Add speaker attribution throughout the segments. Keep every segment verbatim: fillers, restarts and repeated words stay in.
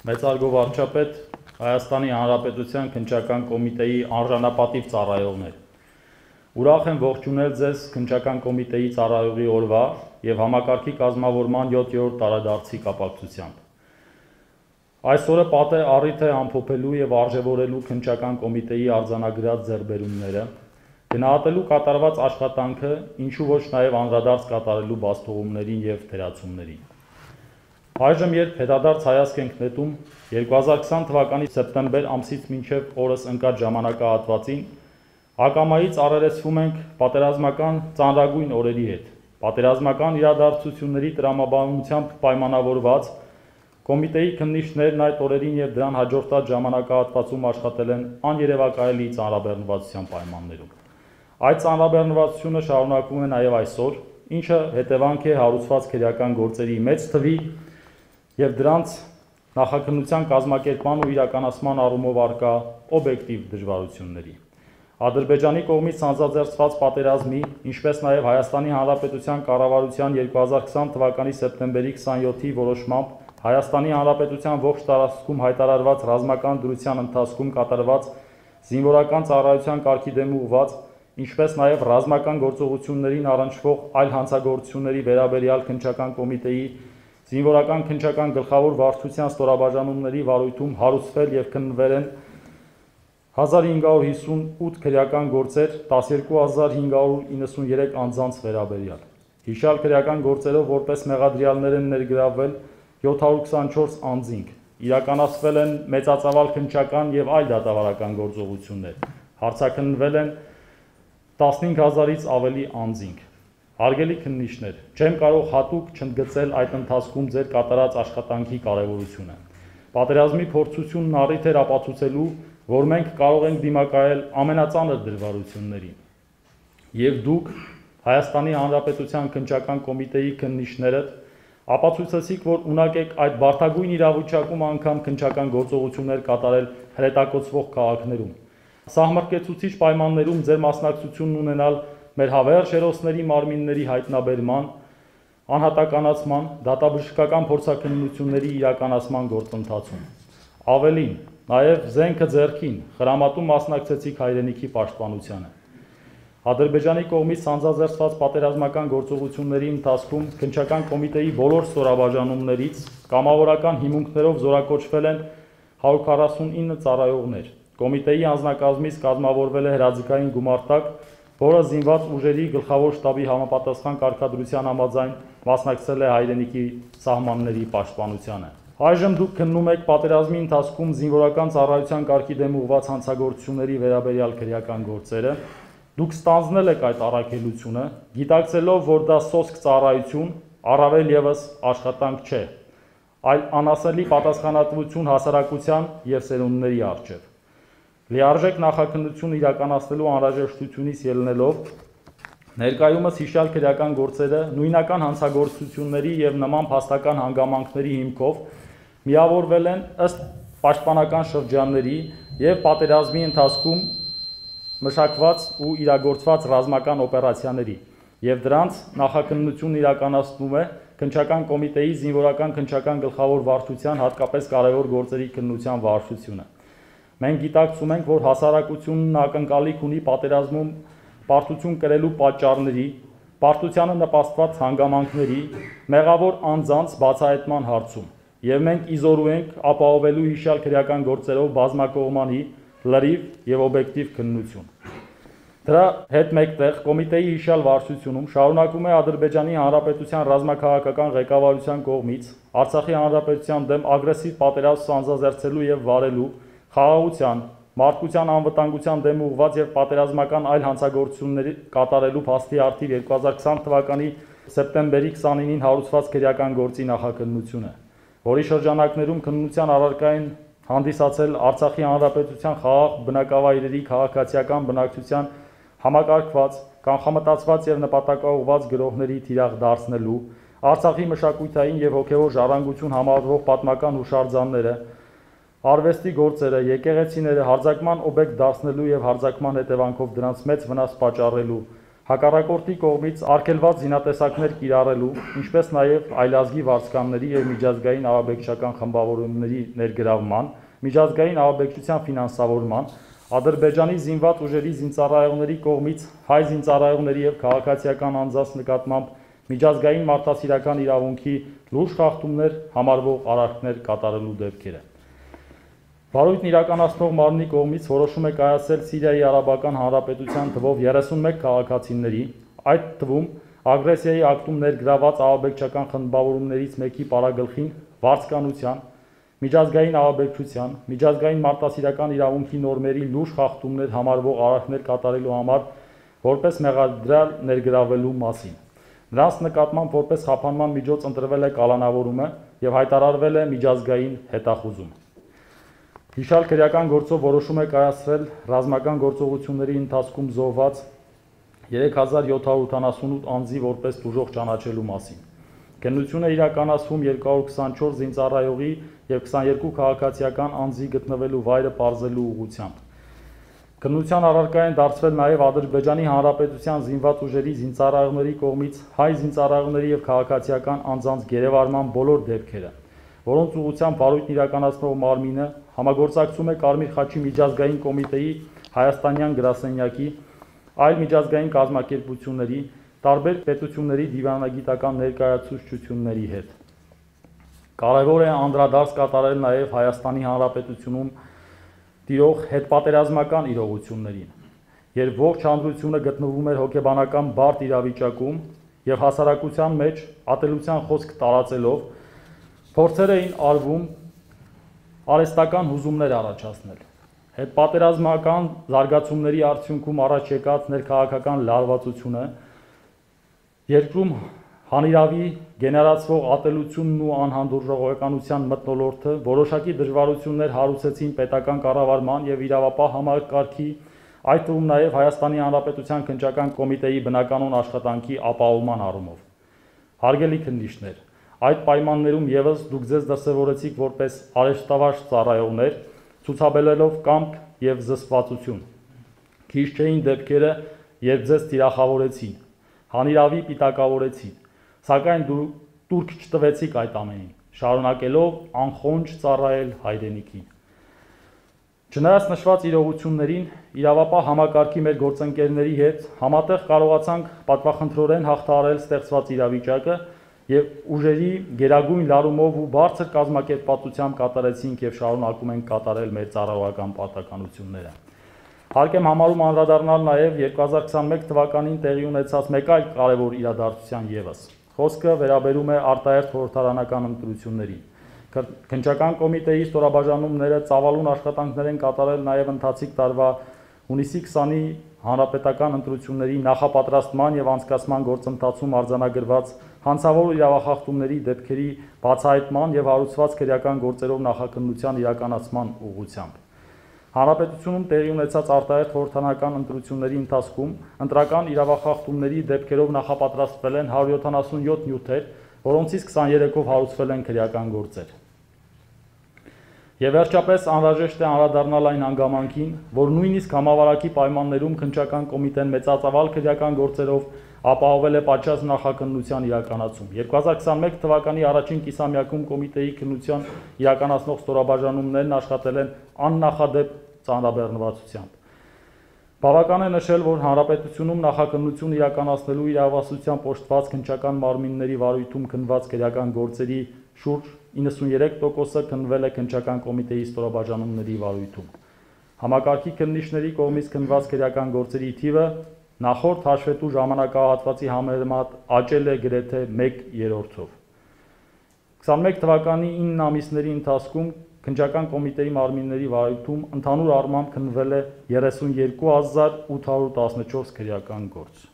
Speaker 1: Մեծարգո վարչապետ, Հայաստանի Հանրապետության Քննչական կոմիտեի անժանապատիվ ծառայողներ, ուրախ եմ ողջունել ձեզ Քննչական կոմիտեի ծառայողի օրվա և համակարգի կազմավորման յոթերորդ տարեդարձի կապակցությամբ։ Այսօրը պատե առիթ է ամփոփելու և արժևորելու Քննչական կոմիտեի արձանագրած ձեռքբերումները, գնահատելու կատարված աշխատանքը, ինչու ոչ նաև անդրադարձ կատարելու բացթողումներին և թերացումներին։ Այժմ, երբ հետադարձ հայացք ենք նետում երկու հազար քսան թվականի սեպտեմբեր ամսից մինչև օրս ընկած ժամանակահատվածին, ակամայից առերեսվում ենք պատերազմական ծանրագույն օրերի հետ։ Պատերազմական իրադարձությունների տրամաբանությամբ պայմանավորված կոմիտեի քննիչներն այդ օրերին և դրան հաջորդած ժամանակահատվածում աշխատել են աներևակայելի ծանրաբեռնվածության պայմաններում։ Այդ ծանրաբեռնվածությունը շարունակվում է նաև այսօր, ինչը հետևանք է հարուցված քրեական գործերի մեծ թվի և դրանց նախաքննության կազմակերպման ու իրականացման առումով առկա օբյեկտիվ դժվարությունների։ Ադրբեջանի կողմից սանձազերծված պատերազմի, ինչպես նաև Հայաստանի Հանրապետության կառավարության երկու հազար քսան թվականի սեպտեմբերի քսանյոթի որոշմամբ Հայաստանի Հանրապետության ողջ տարածքում հայտարարված ռազմական դրության ընթացքում կատարված զինվորական ծառայության կարգի դեմ ուղղված, ինչպես նաև ռազմական գործողություններին առնչվող այլ հանցագործությունների վերաբերյալ Քննչական կոմիտեի զինվորական քննչական գլխավոր վարչության ստորաբաժանումների վարույթում հարուցվել և քննվել են հազար հինգ հարյուր հիսունութ քրեական գործեր տասներկու հազար հինգ հարյուր իննսունյերեք անձանց վերաբերյալ։ Հիշյալ քրեական գործերով որպես մեղադրյալներ են ներգրավվել յոթ հարյուր քսանչորս անձինք, իրականացվել են մեծածավալ քննչական և այլ դատավարական գործողություններ, հարցաքննվել են տասնհինգ հազարից ավելի անձինք։ Հարգելի քննիչներ, չեմ կարող հատուկ չընդգծել այդ ընթացքում ձեր կատարած աշխատանքի կարևորությունը։ Պատերազմի փորձությունն առիթ էր ապացուցելու, որ մենք կարող ենք դիմակայել ամենածանր դժվարություններին։ Եվ դուք, Հայաստանի Հանրապետության Քննչական կոմիտեի քննիչներդ, ապացուցեցիք, որ ունակ եք այդ բարդագույն իրավիճակում անգամ քննչական գործողություններ կատարել հրետակոծվող քաղաքներում։ Սահմռկեցուցիչ պայմաններում ձեր մասնակցությունն ունենալ մեր հավերժ հերոսների մարմինների հայտնաբերման, անհատականացման, դատաբժշկական փորձաքննությունների իրականացման գործընթացում։ Ավելին, նաև զենքը ձեռքին, խրամատում մասնակցեցիք հայրենիքի պաշտպանությանը։ Ադրբեջանի կողմից սանձազերծված պատերազմական գործողությունների ընթացքում Քննչական կոմիտեի բոլոր ստորաբաժանումներից կամավորական հիմունքներով զորակոչվել են հարյուր քառասունինը ծառայողներ։ Կոմիտեի անձնակազմից կազմավորվել է հրաձգային գումարտակ, որը զինված ուժերի գլխավոր շտաբի համապատասխան կարգադրության համաձայն մասնակցել է հայրենիքի սահմանների պաշտպանությանը։ Այժմ դուք քննում եք պատերազմի ընթացքում զինվորական ծառայության կարգի դեմ ուղղված հանցագործությունների վերաբերյալ քրեական գործերը։ Դուք ստանձնել եք այդ առաքելությունը, գիտակցելով, որ դա սոսկ ծառայություն, առավել ևս աշխատանք չէ, այլ անասելի պատասխանատվություն հասարակության և սերունդների առջև։ Լիարժեք նախաքննություն իրականացնելու անհրաժեշտությունից ելնելով, ներկայումս հիշյալ քրեական գործերը նույնական հանցագործությունների և նման փաստական հանգամանքների հիմքով միավորվել են ըստ պաշտպանական շրջանների և պատերազմի ընթացքում մշակված ու իրագործված ռազմական օպերացիաների, և դրանց նախաքննությունն իրականացնում է Քննչական կոմիտեի զինվորական քննչական գլխավոր վարչության հատկապես կարևոր գործերի քննության վարչությունը։ Մենք գիտակցում ենք, որ հասարակությունն ակնկալիք ունի պատերազմում պարտություն կրելու պատճառների, պարտությանը նպաստված հանգամանքների, մեղավոր անձանց բացահայտման հարցում, և մենք իզորու ենք ապահովելու հիշյալ քրեական գործերով բազմակողմանի, լրիվ և օբյեկտիվ քննություն։ Դրա հետ մեկտեղ կոմիտեի հիշյալ վարչությունում շարունակվում է Ադրբեջանի Հանրապետության ռազմաքաղաքական ղեկավարության կողմից Արցախի Հանրապետության դեմ ագրեսիվ պատերազմ սանձազերծելու և վարելու, խաղաղության, մարդկության անվտանգության դեմ ուղղված և պատերազմական այլ հանցագործություններ կատարելու փաստի առթիվ երկու հազար քսան թվականի սեպտեմբերի քսանինին հարուցված քրեական գործի նախաքննությունը, որի շրջանակներում քննության առարկա են հանդիսացել Արցախի Հանրապետության խաղաղ բնակավայրերի քաղաքացիական բնակչության համակարգված, կանխամտածված և նպատակաուղղված գրոհների թիրախ դարձնելու, Արցախի մշակութային և հոգևոր ժառանգություն համարվող պատմական հուշարձանները, արվեստի գործերը, եկեղեցիները հարձակման օբյեկտ դարձնելու և հարձակման հետևանքով դրանց մեծ վնաս պատճառելու, հակառակորդի կողմից արգելված զինատեսակներ կիրառելու, ինչպես նաև այլազգի վարձկանների և միջազգային ահաբեկչական խմբավորումների ներգրավման, միջազգային ահաբեկչության ֆինանսավորման, Ադրբեջանի զինված ուժերի զինծառայողների կողմից հայ զինծառայողների և քաղաքացիական անձանց նկատմամբ միջազգային մարդասիրական իրավունքի լուրջ խախտումներ համարվող արարքներ կատարելու դեպքերը։ Վարույթն իրականացնող մարմնի կողմից որոշում է կայացել Սիրիայի Արաբական Հանրապետության թվով երեսունմեկ քաղաքացիների, այդ թվում ագրեսիայի ակտում ներգրաված ահաբեկչական խմբավորումներից մեկի պարագլխին վարձկանության, միջազգային ահաբեկչության, միջազգային մարդասիրական իրավունքի նորմերի լուրջ խախտումներ համարվող արարքներ կատարելու համար որպես մեղադրյալ ներգրավելու մասին։ Նրանց նկատմամբ որպես խափանման միջոց ընտրվել է կալանավորումը և հայտարարվել է միջազգային հետախուզում։ Հիշյալ քրեական գործով որոշում է կայացրել ռազմական գործողությունների ընթացքում զոհված երեք հազար յոթ հարյուր ութանասունութ անձի որպես տուժող ճանաչելու մասին։ Քննություն է իրականացվում երկու հարյուր քսանչորս զինծառայողի և քսաներկու քաղաքացիական անձի գտնվելու վայրը պարզելու ուղղությամբ։ Քննության առարկա են դարձվել նաև Ադրբեջանի Հանրապետության զինված ուժերի զինծառայողների կողմից հայ զինծառայողների և քաղաքացիական անձանց գերեվարման բոլոր դեպքերը, որոնց ուղղությամբ վարույթն իրականացնող մարմինը համագործակցում է Կարմիր խաչի միջազգային կոմիտեի հայաստանյան գրասենյակի, այլ միջազգային կազմակերպությունների, տարբեր պետությունների դիվանագիտական ներկայացուցչությունների հետ։ Կարևոր է անդրադարձ կատարել նաև Հայաստանի Հանրապետությունում տիրող հետպատերազմական իրողություններին, երբ ողջ հանրությունը գտնվում էր հոգեբանական բարդ իրավիճակում և հասարակության մեջ ատելության խոսք տարածելով փորձեր էին արվում արհեստական հուզումներ առաջացնել։ Հետպատերազմական զարգացումների արդյունքում առաջ եկած ներքաղաքական լարվածությունը, երկրում հանիրավի գեներացվող ատելությունն ու անհանդուրժողականության մթնոլորտը որոշակի դժվարություններ հարուցեցին պետական կառավարման և իրավապահ համակարգի, այդ թվում նաև Հայաստանի Հանրապետության քննչական կոմիտեի բնականոն աշխատանքի ապահովման առումով։ Հարգելի քննիչներ, այդ պայմաններում ևս դուք ձեզ դրսևորեցիք որպես արժեշտավարժ ծառայողներ, ցուցաբերելով կամք և զսպվածություն։ Քիչ չէին դեպքերը, երբ ձեզ թիրախավորեցին, հանիրավի պիտակավորեցին, սակայն դուք տուրք չտվեցիք այդ ամենին, շարունակելով անխոնջ ծառայել հայրենիքին։ Չնայած նշված իրողություններին, իրավապահ համակարգի մեր գործընկերների հետ համատեղ կարողացանք պատվախնդրորեն հաղթահարել ստեղծված իրավիճակը և ուժերի գերագույն լարումով ու բարձր կազմակերպվածությամբ կատարեցինք և շարունակում ենք կատարել մեր ծառայողական պարտականությունները։ Հարկ եմ համարում անդրադառնալ նաև երկու հազար քսանմեկ թվականին տեղի ունեցած մեկ այլ կարևոր իրադարձության ևս։ Խոսքը վերաբերում է արտահերթ խորհրդարանական ընտրություններին։ Քննչական կոմիտեի ստորաբաժանումները ծավալուն աշխատանքներ են կատարել նաև ընթացիկ տարվա հունիսի քսանի հանրապետական ընտրությունների նախապատրաստման և անցկացման գործընթացում արձանագրված հանցավոր իրավախախտումների դեպքերի բացահայտման և հարուցված քրեական գործերով նախաքննության իրականացման ուղղությամբ։ Հանրապետությունում տեղի ունեցած արտահերթ խորհրդարանական ընտրությունների ընթացքում ընտրական իրավախախտումների դեպքերով նախապատրաստվել են հարյուր յոթանասունյոթ նյութեր, որոնցից քսաներեքով հարուցվել են քրեական գործեր։ Եվ վերջապես անհրաժեշտ է անդրադառնալ այն հանգամանքին, որ նույնիսկ համավարակի պայմաններում քննչական կոմիտեն մեծածավալ քրեական գործերով ապահովել է պատշաճ նախաքննության իրականացում։ երկու հազար քսանմեկ թվականի առաջին կիսամյակում կոմիտեի քննության իրականացնող ստորաբաժանումներն աշխատել են աննախադեպ ծանրաբեռնվածությամբ։ Բավական է նշել, որ Հանրապետությունում նախաքննություն իրականացնելու իրավասության օժտված քննչական մարմինների վարույթում քննված քրեական գործերի շուրջ իննսունյերեք տոկոսը քննվել է քննչական կոմիտեի ստորաբաժանումների վարույթում։ Համակարգի քննիչների կողմից քննված քրեական գործերի թիվը նախորդ հաշվետու ժամանակահատվածի համեմատ աճել է գրեթե մեկ երրորդով։ քսանմեկ թվականի ինը ամիսների ընթացքում քննչական կոմիտեի մարմինների վարույթում ընդհանուր առմամբ քննվել է երեսունյերկու հազար ութ հարյուր տասնչորս քրեական գործ։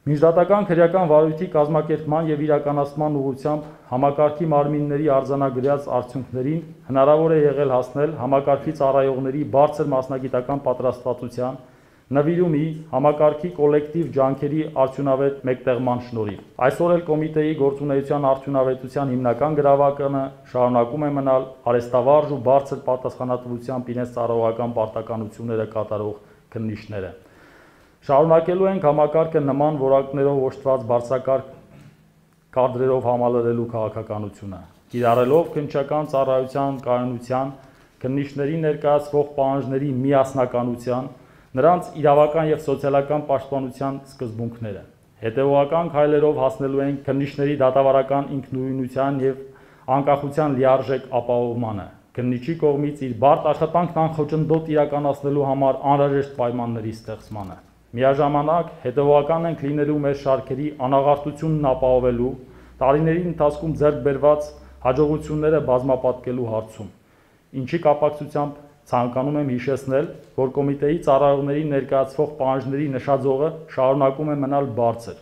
Speaker 1: Միջդատական քրեական վարույթի կազմակերպման և իրականացման ուղղությամբ համակարգի մարմինների արձանագրած արդյունքներին հնարավոր է եղել հասնել համակարգի ծառայողների բարձր մասնագիտական պատրաստվածության, նվիրումի, համակարգի կոլեկտիվ ջանքերի արդյունավետ մեկտեղման շնորհիվ։ Այսօր էլ կոմիտեի գործունեության արդյունավետության հիմնական գրավականը շարունակում է մնալ արհեստավարժ ու բարձր պատասխանատվությամբ իրենց ծառայողական պարտականությունները կատարող քննիչները։ Շարունակելու ենք համակարգը նման որակներով օժտված բարձրակարգ կադրերով համալրելու քաղաքականությունը, կիրառելով քննչական ծառայության կայունության, քննիչների ներկայացվող պահանջների միասնականության, նրանց իրավական և սոցիալական պաշտպանության սկզբունքները։ Հետևողական քայլերով հասնելու ենք քննիչների դատավարական ինքնուրույնության և անկախության լիարժեք ապահովմանը, քննիչի կողմից իր բարդ աշխատանքն անխոչնդոտ իրականացնելու համար անհրաժեշտ պայմանների ստեղծմանը։ Միաժամանակ հետևողական ենք լինելու մեր շարքերի անաղարտությունն ապահովելու, տարիների ընթացքում ձեռք բերված հաջողությունները բազմապատկելու հարցում, ինչի կապակցությամբ ցանկանում եմ հիշեցնել, որ կոմիտեի ծառայողների ներկայացվող պահանջների նշաձողը շարունակում է մնալ բարձր,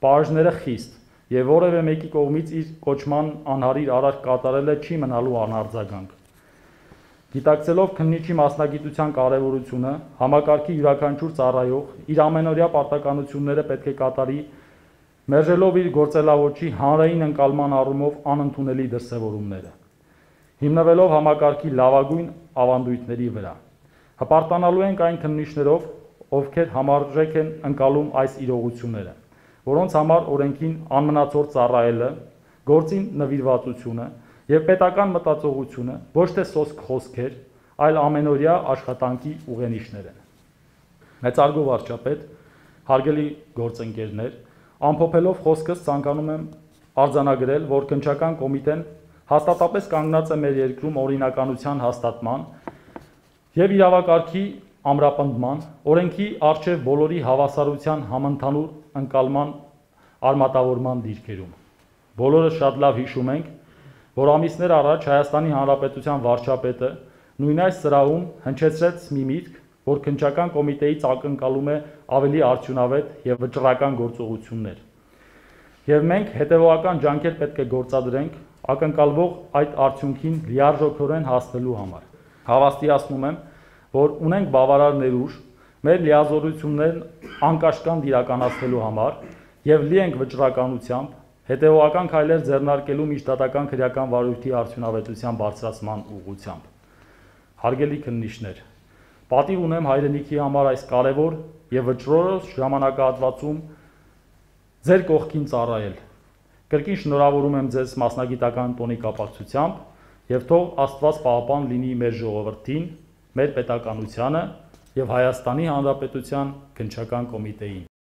Speaker 1: պահանջները խիստ և որևէ մեկի կողմից իր կոչման անհարիր արարք կատարելը չի մնալու անարձագանք։ Գիտակցելով քննիչի մասնագիտության կարևորությունը, համակարգի յուրաքանչյուր ծառայող իր ամենօրյա պարտականությունները պետք է կատարի, մերժելով իր գործելաոճի հանրային ընկալման առումով անընդունելի դրսևորումները, հիմնվելով համակարգի լավագույն ավանդույթների վրա։ Հպարտանալու ենք այն քննիչներով, ովքեր համարժեք են ընկալում այս իրողությունները, որոնց համար օրենքին անմնացորդ ծառայելը, գործին նվիրվածությունը և պետական մտածողությունը ոչ թե սոսկ խոսքեր, այլ ամենօրյա աշխատանքի ուղենիշներ են։ Մեծարգո վարչապետ, հարգելի գործընկերներ, ամփոփելով խոսքս ցանկանում եմ արձանագրել, որ քննչական կոմիտեն հաստատապես կանգնած է մեր երկրում օրինականության հաստատման և իրավակարգի ամրապնդման, օրենքի առջև բոլորի հավասարության համընդհանուր ընկալման արմատավորման դիրքերում։ Բոլորս շատ լավ հիշում ենք, որ ամիսներ առաջ Հայաստանի Հանրապետության վարչապետը նույն այս սրահում հնչեցրեց մի միտք, որ քննչական կոմիտեից ակնկալում է ավելի արդյունավետ և վճռական գործողություններ։ Եվ մենք հետևողական ջանքեր պետք է գործադրենք ակնկալվող այդ արդյունքին լիարժեքորեն հասնելու համար։ Հավաստիացնում եմ, որ ունենք բավարար ներուժ մեր լիազորություններն անկաշկանդ իրականացնելու համար և լի ենք վճռականությամբ, հետևողական քայլեր ձեռնարկելու միջդատական քրեական վարույթի արդյունավետության բարձրացման ուղղությամբ։ Հարգելի քննիչներ, պատիվ ունեմ հայրենիքի համար այս կարևոր և վճռորոշ ժամանակահատվածում ձեր կողքին ծառայել։ Կրկին շնորհավորում եմ ձեզ մասնագիտական տոնի կապակցությամբ և թող Աստված պահապան լինի մեր ժողովրդին, մեր պետականությանը և Հայաստանի Հանրապետության քննչական կոմիտեին։